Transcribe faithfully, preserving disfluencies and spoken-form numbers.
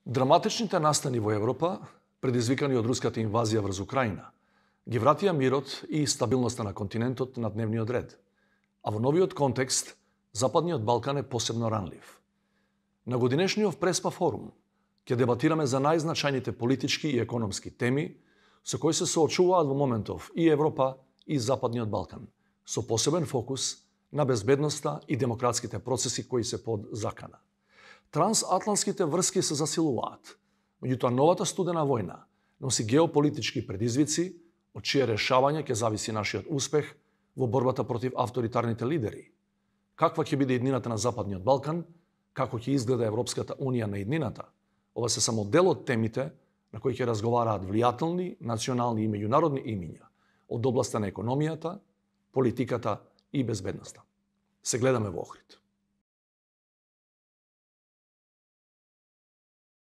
Драматичните настани во Европа, предизвикани од руската инвазија врз Украина, ги вратија мирот и стабилноста на континентот на дневниот ред. А во новиот контекст, Западниот Балкан е посебно ранлив. На годинешниот Преспа форум ќе дебатираме за најзначајните политички и економски теми со кои се соочуваат во моментов и Европа и Западниот Балкан, со посебен фокус на безбедноста и демократските процеси кои се под закана. Трансатлантските врски се засилуваат, меѓутоа новата студена војна носи геополитички предизвици, од чие решавање ќе зависи нашиот успех во борбата против авторитарните лидери. Каква ќе биде иднината на Западниот Балкан, како ќе изгледа Европската Унија на иднината, ова се само дел од темите на кои ќе разговараат влијателни, национални и меѓународни имиња од областа на економијата, политиката и безбедноста. Се гледаме во Охрид.